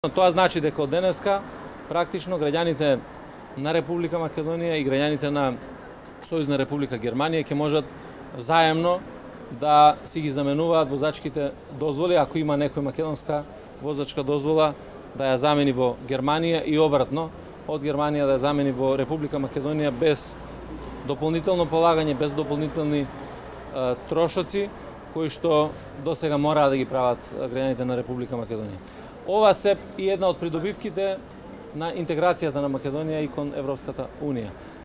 Тоа значи дека од денеска практично граѓаните на Република Македонија и граѓаните на Сојузна Република Германија ќе можат заемно да си ги заменуваат возачките дозволи, ако има некој македонска возачка дозвола да ја замени во Германија и обратно, од Германија да ја замени во Република Македонија без дополнително полагање, без дополнителни трошоци кои што досега мораа да ги прават граѓаните на Република Македонија. Ова се и една од придобивките на интеграцијата на Македонија и кон Европската Унија.